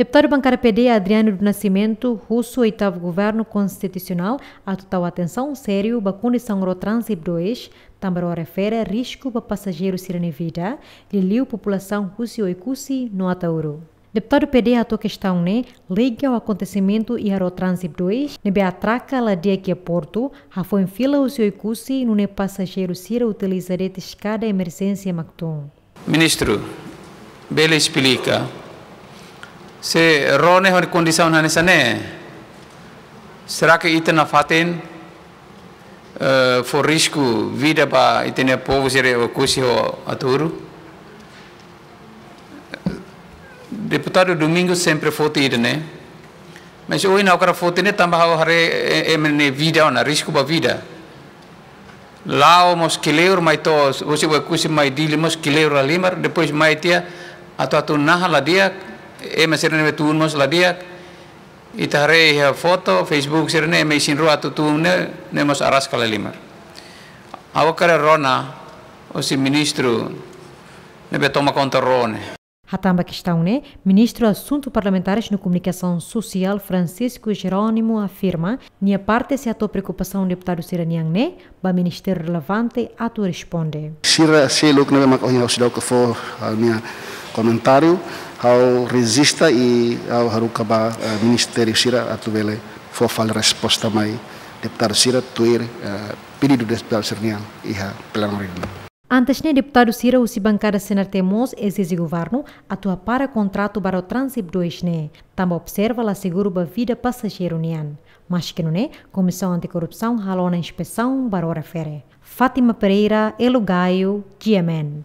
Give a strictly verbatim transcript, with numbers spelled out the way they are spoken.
Deputadu bankada P D, Adriano do Nascimento, husu oitavu governu konstitusionál atu tau atensaun sériu ba kondisaun Rotransib dois, tanba refere risku ba pasajeiru sira-nia vida, liuliu populasaun husi Oekusi no Ataúru. Deputadu P D hato'o kestaun ne'e liga ho akontesimentu iha Rotransib dois, ne'ebé atraka la di'ak iha portu, hafoin fila husi Oekusi, nune'e pasajeiru sira utiliza de'it eskada emerjénsia mak tun. Ministru, bele esplika, se rona ho kondisaun hanesan ne'e, será que ita nafatin, eh, fó risku vida ba ita-nia povu sira Oekusi ho Ataúru? Deputadu Domingos sempre foti ida-ne'e. Mas ohin ha'u hakarak foti ne'e tanba ha'u haree, eh, ema nia vida ona, risku ba vida. La'o mós kleur, mai to'o, husi Oekusi mai Dili mós kleur lahalimar, depois mai tiha atu-atu naha la di'ak, ema sira-ne'e tun mós la di'ak. Ita haree iha foto, Facebook sira-ne'e, ema isin-rua atu tun ne'e, ne'e mós araska lahalimar. Ha'u hakarak rona, husi ministru ne'ebé toma konta rona. Hatán ba kestaun ne'e, Ministru Asuntu Parlamentares no Komunikasaun Sosiál Francisco Jerónimo afirma, nia parte sei hato'o preokupasaun deputadu sira-nian ne'e ba ministériu relevante atu responde. Sira seluk ne'ebé mak ohin ha'u seidauk fó ha'u-nia komentáriu, ha'u rejista i ha'u haruka ba, eh, ministériu sira atu bele fó fali resposta mai deputadu sira tuir, eh, pedidu deputadu sira-nian iha plenáriu. Antes ne'e, deputadu sira husi bankada C N R T mós ezije governu atu hapara kontratu ba Rotransib dois ne'e, tanba observa la seguru ba vida pasajeiru nian. Maske nune'e, Komisaun Antikorrupsaun halo ona inspesaun ba refere. Fátima Pereira, Elo Gaio, G M N.